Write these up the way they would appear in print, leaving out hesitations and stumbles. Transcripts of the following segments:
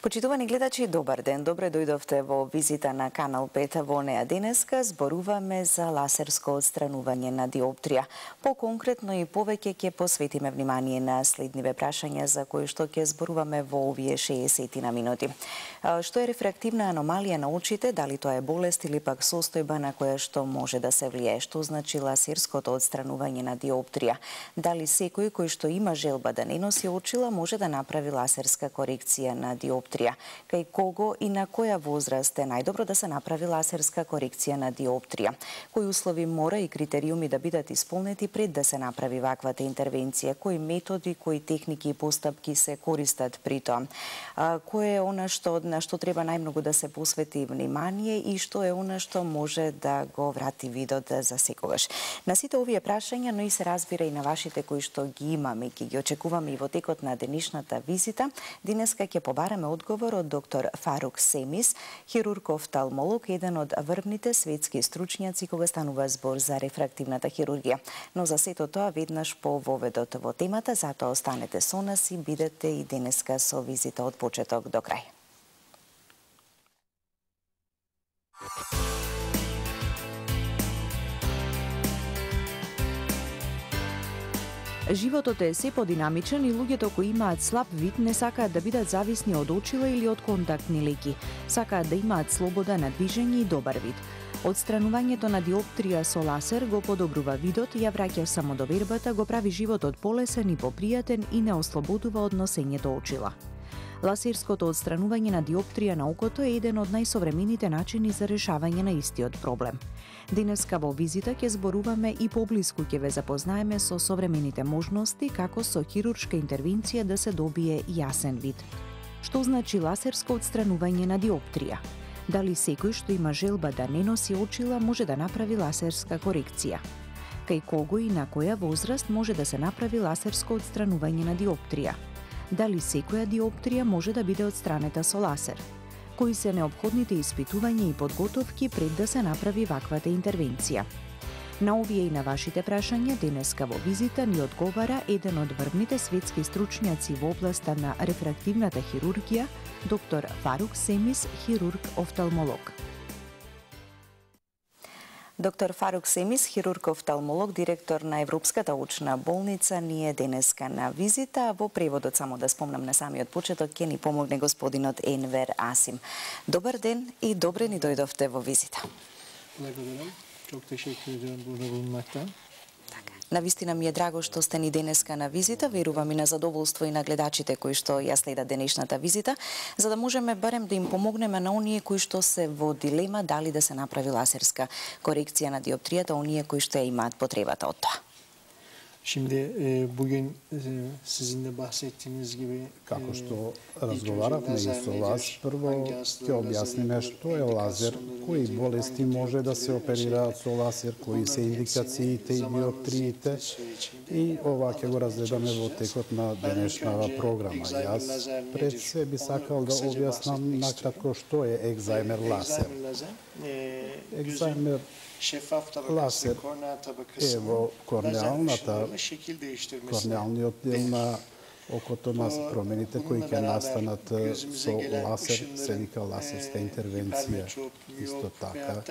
Почитувани гледачи, добар ден. Добре дојдовте во визита на Канал 5. Во неа денеска зборуваме за ласерско отстранување на диоптрија. По-конкретно и повеќе ќе посветиме внимание на следниве прашања за кои што ќе зборуваме во овие 60 на минути. Што е рефрактивна аномалија на очите, дали тоа е болест или пак состојба на која што може да се влијае? Што значи ласерското отстранување на диоптрија? Дали секој кој што има желба да не носи очила може да направи ласерска корекција на диоптрија? Кај кого и на која возраст е најдобро да се направи ласерска корекција на диоптрија? Кои услови мора и критериуми да бидат исполнети пред да се направи ваквата интервенција? Кои методи, кои техники и постапки се користат при тоа? Кој е она на што треба најмногу да се посвети внимание и што е она што може да го врати видот за секогаш? На сите овие прашања, но и се разбира и на вашите кои што ги имаме и ќе ги очекуваме и во текот на денешната визита, денеска ќе побараме одговор од доктор Фарук Семис, хирург-офталмолог, еден од врвните светски стручњаци кога станува збор за рефрактивната хирургија. Но за сето тоа веднаш по воведот во темата, затоа останете со нас и бидете и денеска со визита од почеток до крај. Животот е се подинамичен и луѓето кои имаат слаб вид не сакаат да бидат зависни од очила или од контактни ленки. Сакаат да имаат слобода на движење и добар вид. Отстранувањето на диоптрија со ласер го подобрува видот, ја враќа самодовербата, го прави животот полесен и попријатен и не ослободува од носењето очила. Ласерското отстранување на диоптрија на окото е еден од најсовремените начини за решавање на истиот проблем. Денеска во визита ќе зборуваме и поблиску ќе ве запознаеме со современите можности како со хируршка интервенција да се добие јасен вид. Што значи ласерско отстранување на диоптрија? Дали секој што има желба да не носи очила може да направи ласерска корекција? Кај кого и на која возраст може да се направи ласерско отстранување на диоптрија? Дали секоја диоптрија може да биде отстранета со ласер? Кои се неопходните испитувања и подготовки пред да се направи ваквата интервенција? На овие и на вашите прашања денеска во визита ни одговара еден од врвните светски стручњаци во областа на рефрактивната хирургија, доктор Фарук Семис, хирург-офталмолог. Доктор Фарук Семис, хирург-офталмолог, директор на Европската очна болница, ни е денеска на визита. Во преводот, само да спомнам на самиот почеток, ќе ни помогне господинот Енвер Асим. Добар ден и добре ни дојдовте во визита. Благодарам. Çok teşekkür ediyorum burada bulunmaktan. Навистина ми е драго што сте ни денеска на визита, верувам и на задоволство и на гледачите кои што ја следат денешната визита, за да можеме барем да им помогнеме на оние кои што се во дилема дали да се направи ласерска корекција на диоптријата, оние кои што ја имаат потребата од тоа. Şimdi bugün sizin de bahsettiğiniz gibi како што разговаравме и со вас, прво ќе објасниме што е лазер, кои болести може да се оперираат со лазер, кои се индикациите и диоптриите и ова ќе го разгледаме во текот на денешната програма. Јас пред се би сакал да објаснам накратко што е екзаймер лазер. Екзаймер лазер е во корнеалниот дел на окото на промените кои ќе настанат со лазер, се вика лазерска интервенција. Исто така,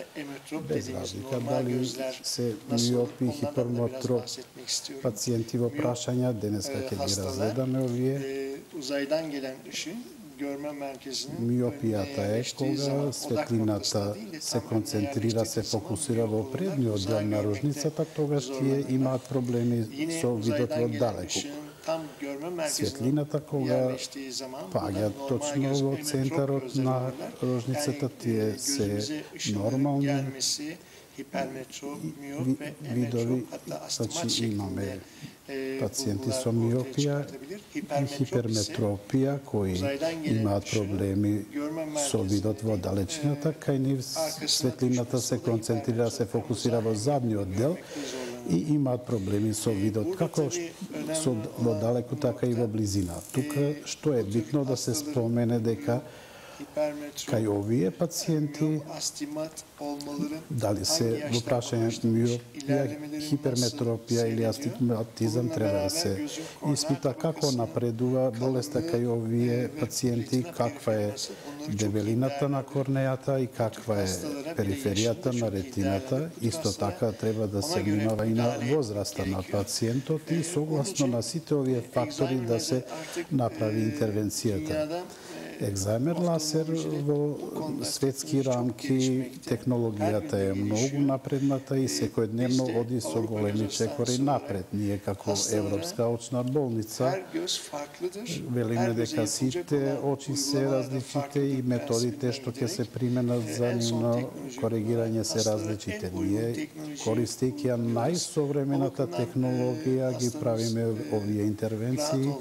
без разлика дали се миопи, хиперметроп пациенти во прашања, денеска ќе ги разгледаме овие. Миопијата е кога светлината се концентрира, се фокусира во предниот дел на рожницата, тогаш тие имаат проблеми со видот во далеку. Светлината кога паѓа точно во центарот на рожницата, тие се нормални видови, значи имаме пациенти со миопија и хиперметропија кои имаат проблеми со видот во далечината, кај нив светлината се концентрира, се фокусира во задниот дел и имаат проблеми со видот, како во далеку, така и во близина. Тука што е битно да се спомене дека Кај овие пациенти, дали се во прашање миопија, хиперметропија или астигматизам, треба да се испита како напредува болеста кај овие пациенти, каква е дебелината на корнејата и каква е периферијата на ретината. Исто така треба да се внимава и на возраста на пациентот и согласно на сите овие фактори да се направи интервенцијата. Екзаймер лазер во светски рамки, технологијата е многу напредната и секојдневно оди со големи чекори напред. Ние како Европска очна болница велиме дека сите очи се различите и методите што ќе се применат за нивно коригирање се различите. Ние, користејќи ја најсовремената технологија, ги правиме овие интервенции.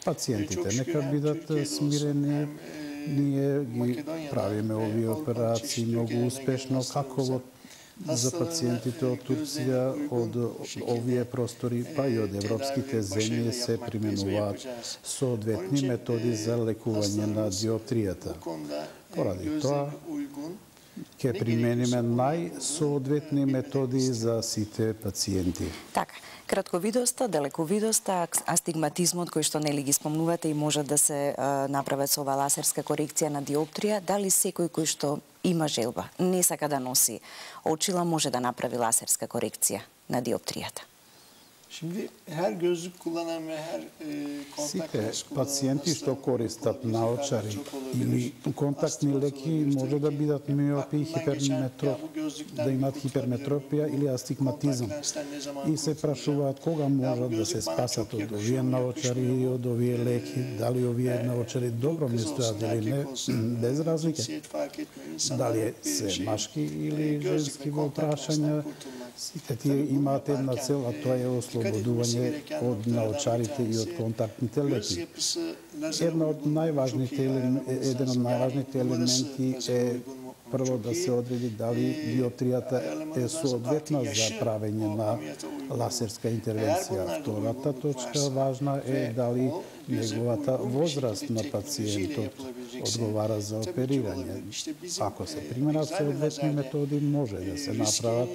Пациентите нека бидат смирени, ние ги правиме овие операции многу успешно, како за пациентите од Турција, од овие простори, па и од европските земји се применуваат соодветни методи за лекување на диоптријата. Поради тоа, ќе примениме најсоодветни методи за сите пациенти. Така, кратковидоста, далековидоста, астигматизмот кој што нели ги спомнувате и може да се направат со ова лазерска корекција на диоптрија, дали секој кој што има желба, не сака да носи очила, може да направи лазерска корекција на диоптријата? Şimdi her gözlük kullanan ve her kontak lens Сите пациенти што користат наочари или контактни леки може да бидат миопи и да имат хиперметропија или астигматизам. И се прашуваат кога можат да се спасат од овие наочари и од овие леки, дали овие наочари добро ми стојат или не, без разлика. Дали се машки или женски во прашања, сите тие имаат една цел, а тоа е ослободување од наочарите и од контактните леки. Еден од најважните елементи е прво да се одреди дали диоптријата е соодветна за правење на лазерска интервенција. Втората точка важна е дали неговата возраст на пациентот одговара за оперирање. Ако се применат соодветни методи, може да се направат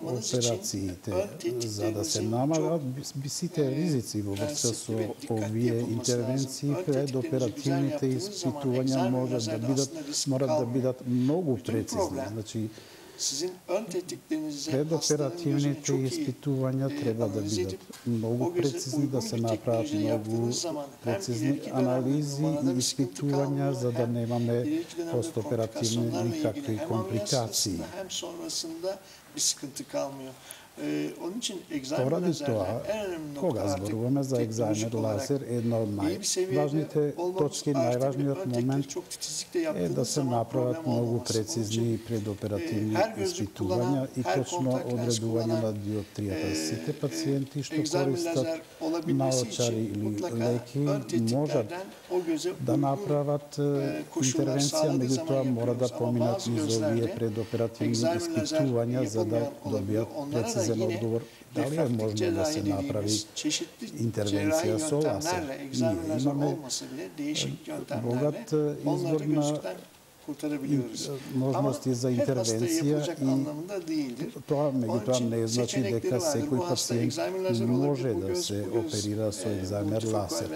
операциите. За да се намалат сите ризици во врска со овие интервенции, предоперативните испитувања морат да бидат многу прецизни. Значи, предоперативните испитувања треба да бидат многу прецизни, да се направат многу прецизни анализи и испитувања за да немаме постоперативни никакви компликации. Поради тоа, кога зборуваме за екзаймер лазер, една од најважните точки, најважниот момент е да се направат многу прецизни предоперативни испитувања и точно одредување на диоптријата. Сите пациенти што користат наочари или леки можат да направат интервенција, меѓутоа мора да поминат низ овие предоперативни испитувања за да добијат прецизен одговор дали е можно да се направи интервенција со лазер. Ние имаме богат избор на можности за интервенција и тоа меѓутоа не значи дека секој пациент може да се оперира со екзаймер лазер.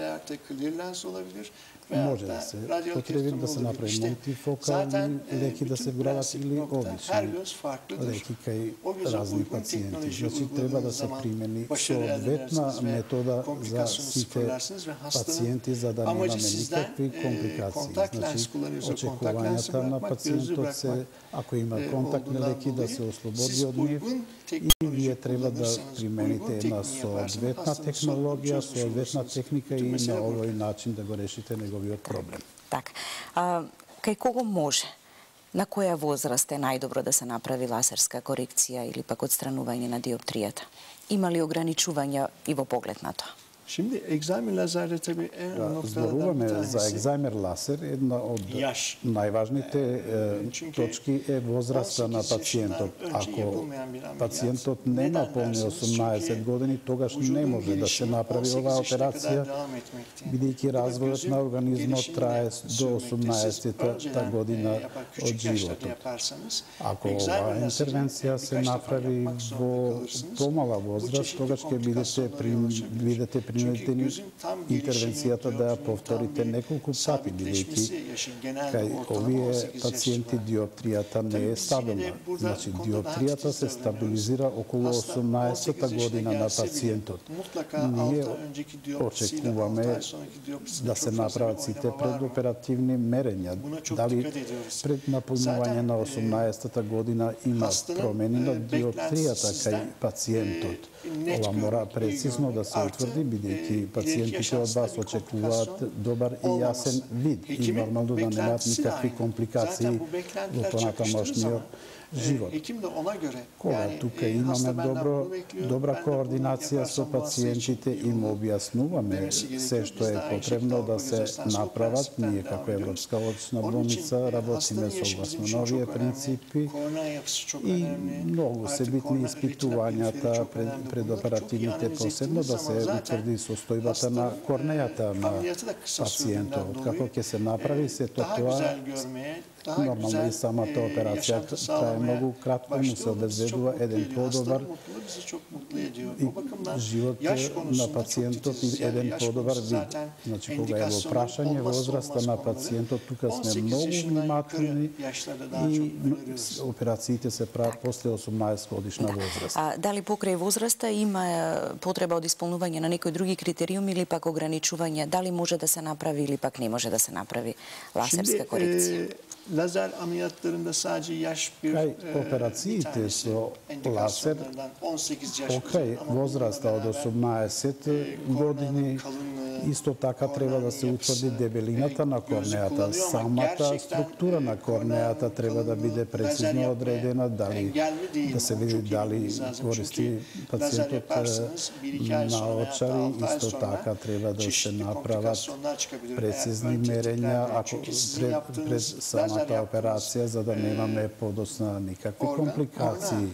Може да се потреби да се направи мултифокални леки да се вградат или обични леки кај разни пациенти. Значи треба да се примени соодветна метода за сите пациенти за да немаме никакви компликации. Значи очекувањата на пациентот се, ако има контактни леки, да се ослободи од нив и вие треба да примените една соодветна технологија, соодветна техника и на овој начин да го решите неговиот проблем. Така. Кај кого може? На која возраст е најдобро да се направи лазерска корекција или пак отстранување на диоптријата? Има ли ограничувања и во поглед на тоа? Şimdi egzamer lazerde tabii en önemli noktalardan Зборуваме bir за tanesi екзаймер лазер, една од yaş. најважните точки е возраста на 18 пациентот. yaşından önce Ако yapılmayan bir ameliyat. пациентот нема Neden полни derseniz, 18 çünkü години, тогаш не vücudun може да се gelişimi направи 18 оваа yaşına kadar операција, devam etmekte. бидејќи развојот gözün на организмот gelişimini трае до sürmekte. Siz 18-та önceden, година yapar, од küçük yaşlarda животот. yaparsanız, Ако egzamer оваа lazerini интервенција се birkaç defa направи yapmak zorunda во kalırsınız. помала Bu возраст, çeşitli тогаш ќе komplikasyonlara yol açabilir. бидете Çünkü принудени gözün tam gelişimi, интервенцијата да ја dioptrinin tam повторите bir неколку пати, sabitleşmesi, бидејќи yaşı genelde кај ortalama овие 18 yaş пациенти civarı. диоптријата не е Tabii biz стабилна. yine de burada Значи bu konuda диоптријата daha се titiz стабилизира околу Hasta 18-та 18 yaşına година на gelse bile пациентот. mutlaka Ние 6 ay önceki dioptrisiyle 6 очекуваме ay sonraki dioptrisinde да се çok fazla направат bir сите oynama var mı? предоперативни мерења. Buna çok Дали dikkat ediyoruz. пред напълнување на 18-та година има hastanın, промени на beklentisi диопtријата кај sizden, пациентот. net Ова мора görmek, iyi прецизно да görmek, се artı, утврди, бидејќи ileriki пациентите од yaşantısında вас bir очекуваат komplikasyon добар и јасен olmaması. вид и Hekimin нормално да немаат beklentisi de никакви aynı. компликации Zaten bu во beklentiler çakıştığı понатамошниот zaman живот. hekim de ona göre Кога тука имаме hasta benden bunu bekliyor, добра ben de bunu координација со yaparsam bu hasta için пациентите iyi и му olur објаснуваме demesi gerekiyor. се што Biz е de aynı потребно şekilde да Avrupa се Gözetmesi направат. prensipten Ние devam како ediyoruz. Европска очна Onun için болница работиме hastanın yaşı bizim согласно için новие çok önemli. принципи Korona yapısı çok и önemli. многу се Artık битни korona retina испитувањата periferi çok önemli. Bunları çok iyi предоперативните, analiz посебно ettiğiniz да zaman се zaten утврди состојбата hastanın на корнејата на ameliyatı da kısa пациентот. sürediğinden Како dolayı ќе се направи сето daha тоа, güzel görmeye, daha нормално güzel и самата операција yaşantı трае sağlamaya многу кратко, му се başlıyor. Bu bizi çok обезбедува mutlu еден ediyor. подобар Hastanın mutluluğu bizi çok mutlu ediyor. и O bakımdan живот yaş на konusunda çok пациентот и titiziz. Yani еден yaş подобар konusu вид. zaten Значи, кога е во endikasyonların прашање olmazsa возраста olmaz на konuları. пациентот, тука сме 18 многу yaşından внимателни yukarı yaşlarda daha çok и öneriyoruz. операциите се прават после 18 годишна возраст. А дали покрај возраста има потреба од исполнување на некои други критериуми или пак ограничување? Дали може да се направи или пак не може да се направи лазерска Şimdi корекција? lazer ameliyatlarında sadece yaş bir Кај bir операциите tanesi со лазер, endikasyonlardan 18 yaş покрај uzun. Ama возраста од bununla 18 години, исто така треба да се утврди дебелината на корнејата. Самата структура на корнејата треба да биде прецизно одредена, дали да се види дали користи пациентот наочари, исто така треба да се направат прецизни мерења ако пред самата операција, за да немаме подосна никакви компликации.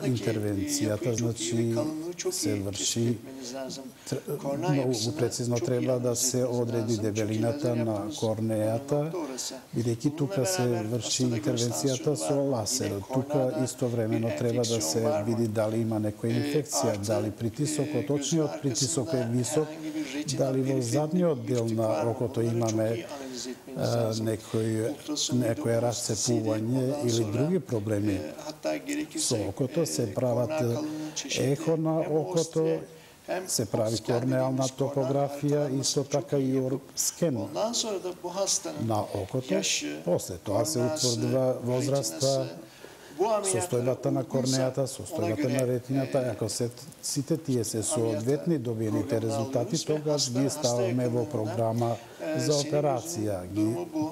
Интервенцијата, значи, се врши многу прецизно треба да се одреди дебелината на корнејата, бидејќи тука се врши интервенцијата со лазер. Тука истовремено треба да се види дали има некоја инфекција, дали притисокот, очниот притисок е висок, дали во задниот дел на окото имаме некој расцепување или други проблеми со окото, се прават ехо на окото, се прави корнеална топографија, исто така и скен на окото. После тоа се утврдува возраста, состојбата на корнејата, состојбата на ретината. Ако сите тие се соодветни добиените резултати, тогаш ги ставаме во програма за операција.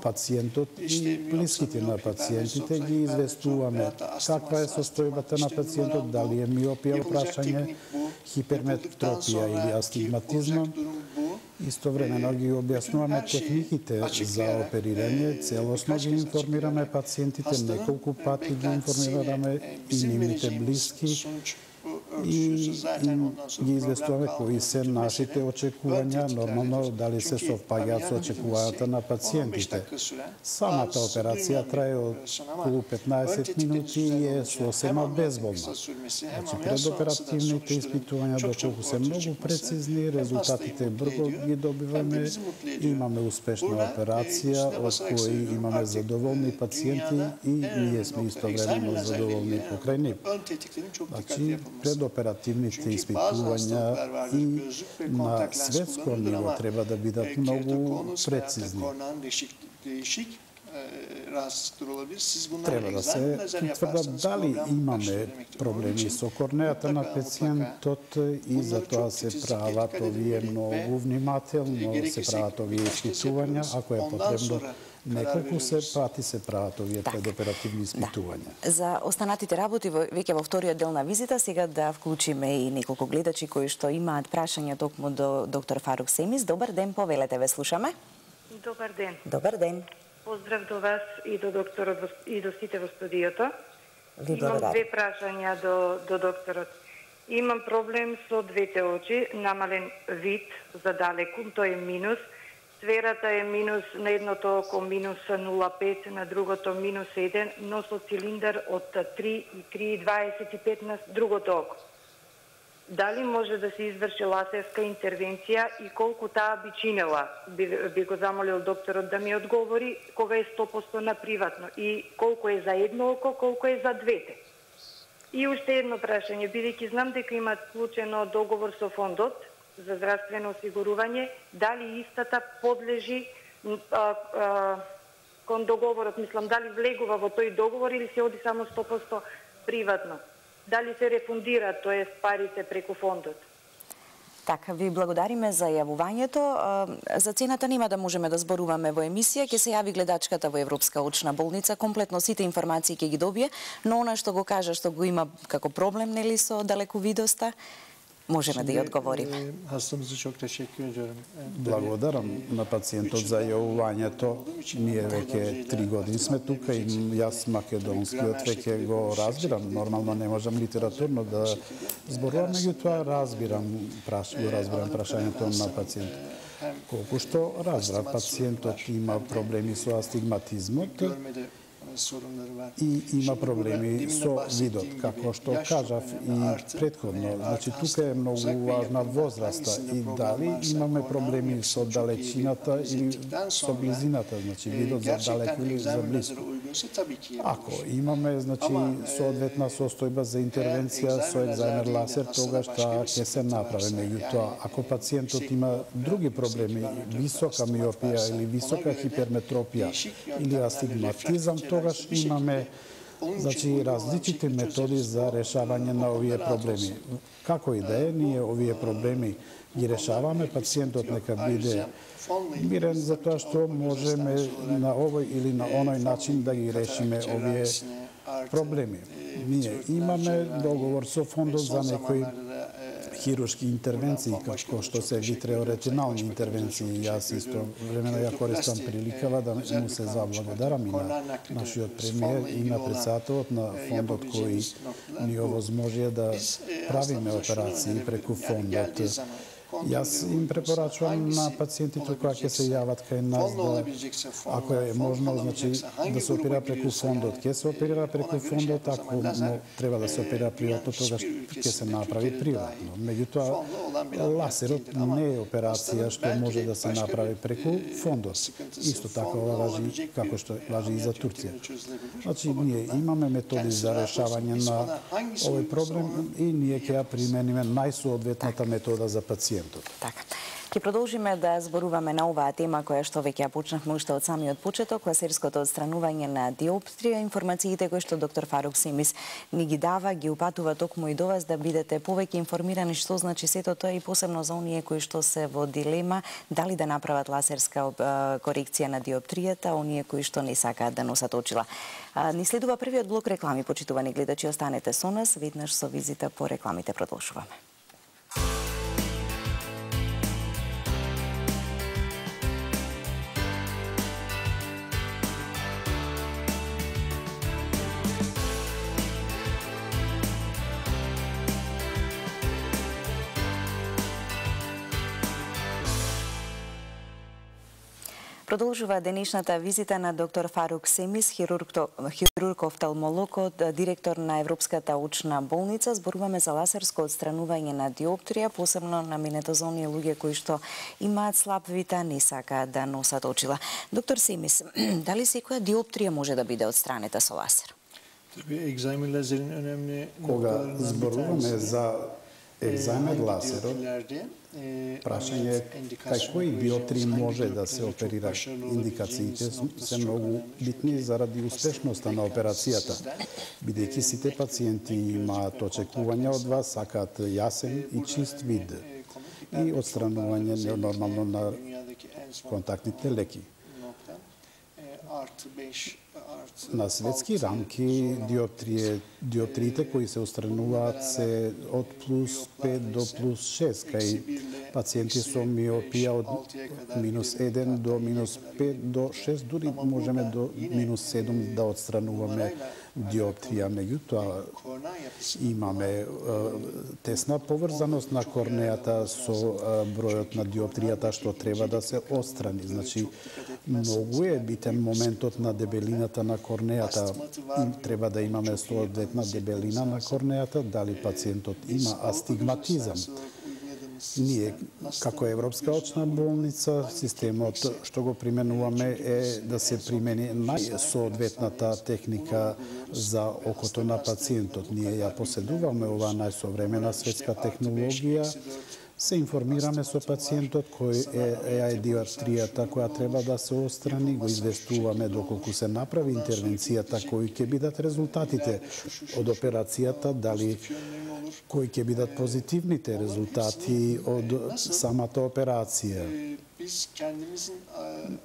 Пациентот и блиските на пациентите ги известуваме каква е состојбата на пациентот, дали е миопија, прашање, хиперметропија или астигматизма. Истовремено ги објаснуваме техниките за оперирање, целосно ги информираме пациентите, неколку пати ги информираме и нивните блиски и ги известуваме кои се нашите очекувања, нормално дали се совпаѓаат со очекувањата на пациентите. Самата операција трае околу 15 минути и е сосема безболна. Значи, предоперативните испитувања, доколку се многу прецизни, резултатите брзо ги добиваме, имаме успешна операција, од кои имаме задоволни пациенти и ние сме истовремено задоволни покрај нив. Значи, предоперативните испитувања и на светско ниво треба да бидат многу прецизни. Треба да се утврдат дали имаме проблеми со корнејата на пациентот и за тоа се прават овие многу внимателно, се прават овие испитувања, ако е потребно Неколку пати се прават овие предоперативни испитувања. За останатите работи веќе во вториот дел на визита, сега да вклучиме и неколку гледачи кои што имаат прашања токму до доктор Фарук Семис. Добар ден, повелете, ве слушаме. Добар ден. Добар ден. Поздрав до вас и до докторот и до сите во студиото. Имам две прашања до докторот. Имам проблем со двете очи, намален вид за далеку, тој е минус. Сферата е минус на едното око минус 0,5, на другото минус 1, но со цилиндар од 3,25 на другото око. Дали може да се изврши лазерска интервенција и колку таа би чинела? Би го замолил докторот да ми одговори кога е 100% на приватно и колку е за едно око, колку е за двете. И уште едно прашање, бидејќи знам дека имат склучено договор со фондот за здравствено осигурување, дали истата подлежи кон договорот, мислам, дали влегува во тој договор или се оди само 100% приватно? Дали се рефундира, тоа парите преку фондот? Така, ви благодариме за јавувањето. За цената нема да можеме да зборуваме во емисија, ќе се јави гледачката во Европска очна болница, комплетно сите информации ќе ги добие, но она што го кажа што го има како проблем нели со далековидоста, можеме да ја одговориме. Hastamızı çok teşekkür ediyorum. Благодарам на пациентот за јавувањето. Ние веќе 3 години сме тука и јас македонскиот веќе го разбирам. Нормално не можам литературно да зборувам, меѓутоа разбирам прашањето на пациентот. Колку што разбрав, пациентот има проблеми со астигматизмот и има проблеми со видот, како што кажав и претходно. Значи, тука е многу важна возраста и дали имаме проблеми со далечината или со близината, значи видот за далеко или за близко. Ако имаме, значи, соодветна состојба за интервенција со екзајмер лазер, тогаш таа ќе се направи. Меѓутоа, ако пациентот има други проблеми, висока миопија или висока хиперметропија или астигматизам, тогаш имаме, значи, различити методи за решавање на овие проблеми. Како и да е, ние овие проблеми ги решаваме, пациентот нека биде мирен за тоа што можеме на овој или на оној начин да ги решиме овие проблеми. Ние имаме договор со фондот за некои хируршки интервенции, како што се витреоретинални интервенции. Јас исто времено ја користам приликава да му се заблагодарам и на нашиот премиер и на председателот на фондот кој ни овозможија да правиме операции преку фондот. Јас им препорачувам на пациентите кога ќе се јават кај нас да, ако е можно, значи да се оперира преку фондот, ќе се оперира преку фондот, ако треба да се оперира приватно, тогаш ќе се направи приватно. Меѓутоа, лазерот не е операција што може да се направи преку фондот. Исто така ова важи како што важи и за Турција. Значи, ние имаме методи за решавање на овој проблем и ние ќе ја примениме најсоодветната метода за пациент. Така. Ќе продолжиме да зборуваме на оваа тема која што веќе ја почнавме уште од самиот почеток, лазерското отстранување на диоптрија. Информациите кои што доктор Фарук Семис ни ги дава, ги упатува токму и до вас да бидете повеќе информирани што значи сето тоа и посебно за оние кои што се во дилема дали да направат лазерска корекција на диоптријата, оние кои што не сакаат да носат очила. Ни следува првиот блок реклами, почитувани гледачи, останете со нас, веднаш со визита по рекламите продолжуваме. Продолжува денешната визита на доктор Фарук Семис, хирург-офталмолог, директор на Европската очна болница. Зборуваме за лазерско отстранување на диоптрија, посебно наменето за оние луѓе кои што имаат слаб вид, а не сакаат да носат очила. Доктор Семис, дали секоја диоптрија може да биде отстранета со лазер? Кога зборуваме за екзајмер лазерот, прашање е кај кои диоптрии може да се оперира. Индикациите се многу битни заради успешноста на операцијата, бидејќи сите пациенти имаат очекувања од вас, сакаат јасен и чист вид и отстранување нормално на контактните леки. На светски рамки диоптриите кои се устрануваат се од плюс 5 до плюс 6, кај пациенти со миопија од минус 1 до минус 5 до 6, дури можеме до минус 7 да отстрануваме диоптрија. Меѓутоа, имаме тесна поврзаност на корнејата со бројот на диоптријата што треба да се отстрани. Значи, многу е битен моментот на дебелината на корнејата. Треба да имаме соодветна дебелина на корнејата, дали пациентот има астигматизам. Ние, како Европска очна болница, системот што го применуваме е да се примени најсоодветната техника за окото на пациентот. Ние ја поседуваме оваа најсовремена светска технологија, се информираме со пациентот кој е диоптријата која треба да се отстрани, го известуваме доколку се направи интервенцијата, кои ќе бидат резултатите од операцијата, дали кои ќе бидат позитивните резултати од самата операција.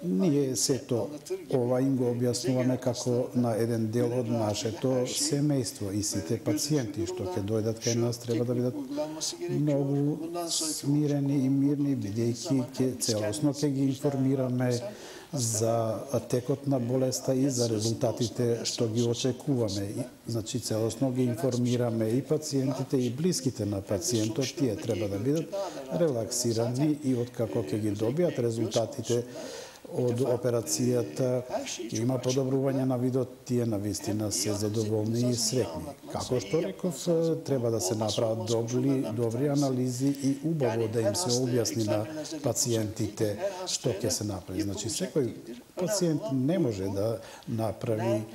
Ние сето ова им го објаснуваме како на еден дел од нашето семејство и сите пациенти што ќе дојдат кај нас треба да бидат многу смирени и мирни, бидејќи ќе целосно ќе ги информираме за текот на болеста и за резултатите што ги очекуваме. Значи, целосно ги информираме и пациентите и блиските на пациентот. Тие треба да бидат релаксирани и откако ќе ги добијат резултатите од операцијата, има подобрување на видот, тие навистина се задоволни и среќни. Како што реков, треба да се направат добри анализи и убаво да им се објасни на пациентите што ќе се направи. Значи, секој пациент не може да направи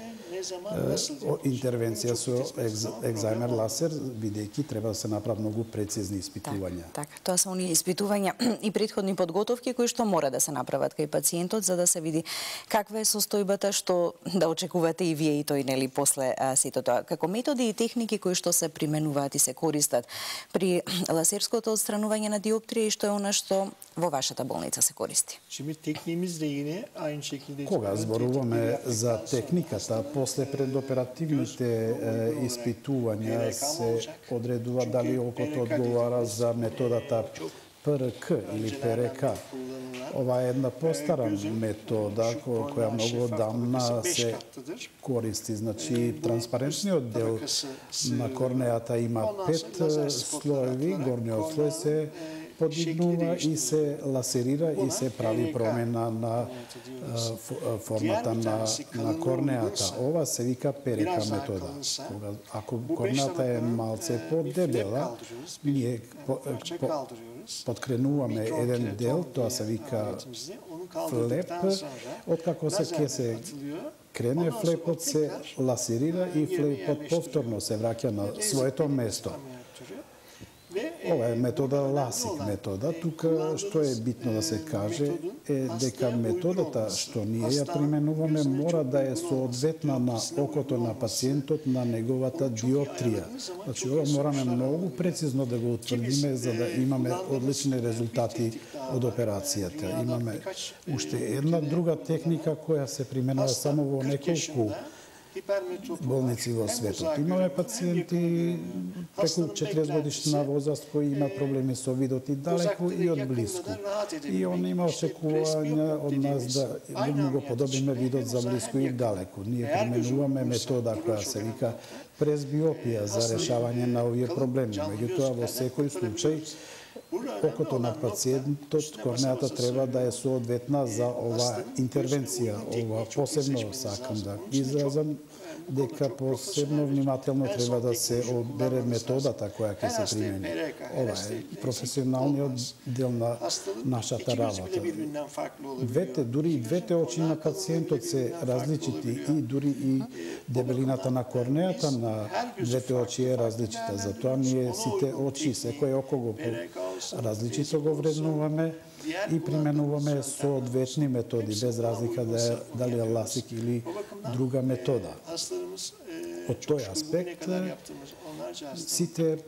интервенција со екзаймер ласер, бидејќи треба да се направат многу прецизни испитувања. Така, тоа се оние испитувања и претходни подготовки кои што мора да се направат кај пациентот за да се види каква е состојбата, што да очекувате и вие и тој, нели, после сето тоа. Како методи и техники кои што се применуваат и се користат при ласерското отстранување на диоптрија и што е она што во вашата болница се користи? Кога зборуваме за техниката, после предоперативните испитувања се одредува дали окото одговара за методата ПРК или ПРК. Ова е една постара метода која многу одамна се користи. Значи, транспарентниот дел на корнејата има 5 слоеви, горниот слој се подигнува и се ласерира и се прави промена на формата на корнејата. Ова се вика ПРК метода. Ако корнејата е малце подебела, ние подкренуваме еден дел, тоа се вика флеп, откако ќе се крене флепот се ласерира и флепот повторно се враќа на своето место. Ова е метода ласик метода. Тука што е битно да се каже е дека методата што ние ја применуваме мора да е соодветна на окото на пациентот на неговата диоптрија. Значи, ова мораме многу прецизно да го утврдиме за да имаме одлични резултати од операцијата. Имаме уште една друга техника која се применува само во неколку болници во светот. Имаме пациенти преку 40 годишна возраст кои има проблеми со видот и далеку и од блиску. И он има очекувања од нас да му го подобриме видот за блиску и далеку. Ние применуваме метода која се вика презбиопија за решавање на овие проблеми. Меѓутоа, во секој случај, окото на пациентот, корнејата треба да е соодветна за оваа интервенција. Ова посебно сакам да изразам дека посебно внимателно треба да се одбере методата која ќе се примени. Ова е професионалниот дел на нашата работа. Дури и двете очи на пациентот се различити и дури и дебелината на корнејата на двете очи е различита. Затоа ние сите очи, секој око го различито го вреднуваме и применуваме соодветни методи, без разлика дали е ласик или друга метода. Од тој аспект, сите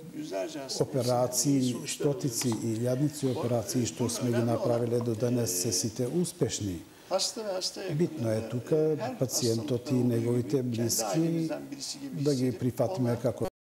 операции, стотици и илјадници операции што сме ги направиле до денес се сите успешни. Битно е тука пациентот и неговите блиски да ги прифатиме како